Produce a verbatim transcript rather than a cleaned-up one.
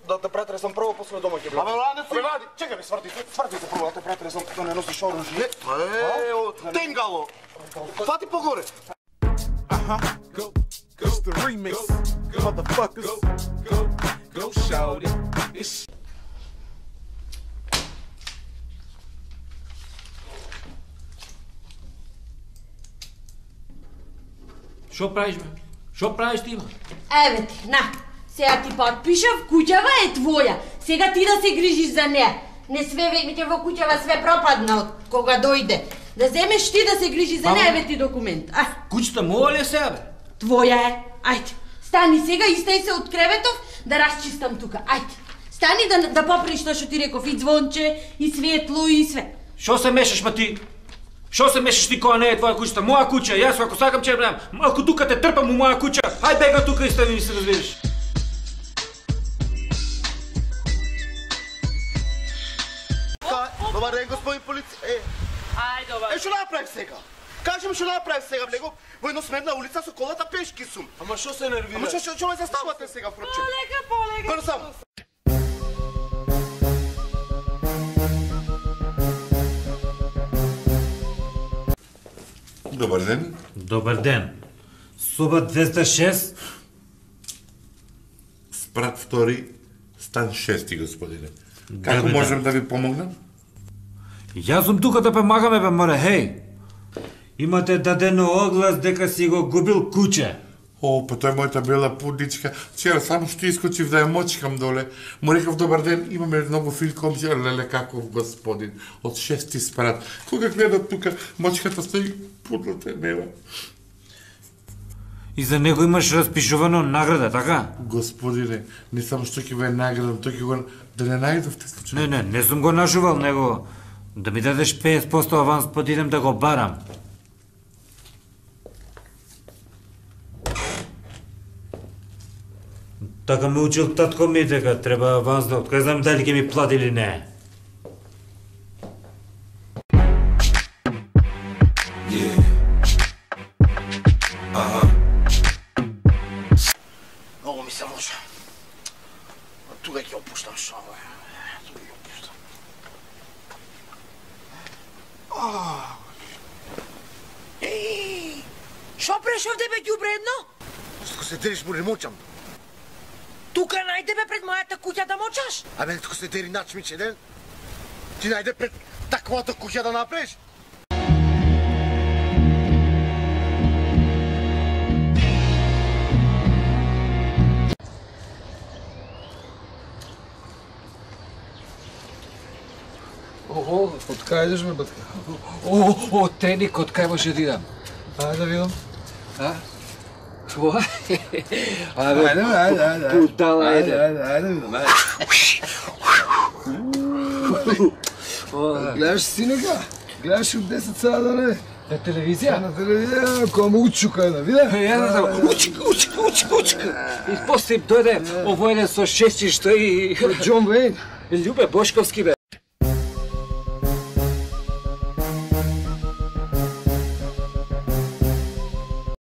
да те претресам прво, после дома ќе влезам. Абе, ради си! Ради, чекай ми, сврти се, сврти се прво, да те претресам, да не носиш оружје. Е, тенгало! Фати погоре! Uh-huh. Go, go, it's the remix, go, motherfuckers. Go, go, go, shout it. It's Шо правиш, бе? Шо правиш ти, бе? Еве ти, на. Сега ти подпишав, куќава е твоја. Сега ти да се грижиш за неа. Не све веќе во куќава све пропадна од кога дојде. Да земеш ти да се грижиш за неа, еве ти документ. А, Куќата моја ли е сега, бе? твоја е. Ајде. Стани сега и стај се од креветов да расчистам тука. Ајде. Стани да да поправиш тоа што ти реков, и звонче, и светло, и све. Шо се мешаш, ма ти? Шо се мешаш ти кога не е твоја куќата? Моја куќа, јас ако сакам ќе бреам. Малку тука те трпам у моја куќа. Ај бега тука и стани ми се разбираш. Добар ден, господин полиција. Е, Ајде, добар. е, што направив сега? Кажи ми што направив сега, влегов во едносмерна улица со колата пешки сум. Ама што се нервира? Ама што што што ме заставате сега, врче? Полека, полека. Горе сам. Добар ден. Добар ден. Соба двеста и шест. Спрат втори, стан шести, господине. Како Добар можам да ви помогнам? Јас сум тука да помагаме, бе, море, хеј. Имате дадено оглас дека си го губил куќе. О, па тој мојата бела пудничка. Вчера само што искочив да ја мочкам доле. Му рекав добар ден, имаме многу фил комшија, леле каков господин. Од шести спрат. Кога гледам тука, мочката стои, пудлата е нема. И за него имаш распишувано награда, така? Господине, не само што ќе ве наградам, тој ќе го да не најдовте случај. Не, не, не сум го нажувал него. Да ми дадеш петдесет проценти аванс, па да идем да го барам. Така ме учил татко ми дека треба аванс да откај знам дали ќе ми плати или не. Многу ми се може. Тука ќе опуштам шо, бе. Тука ќе опуштам. Еј, шо прешов тебе ѓубредно? Што се дериш му не мочам. Тука најде бе пред мојата куќа да мочаш? Абе, тука се дери начмиче, ден. Ти најде пред таквата куќа да направиш? Ого, од кај идеш, бе, батка? О, о, теник, од кај може да идам? Ајде да видам. А? Тоа? Ајде, ајде, ајде, ајде. Путала, ајде. Ајде, ајде, видам, ајде. Гледаш синека? Гледаш од десет сада, не? На телевизија? На телевизија, која му учука, да видам? Ја да учка, учка, учка, учка. И после дојде овој со шестчишто и Џон Вејн. Љубе Бошковски, бе.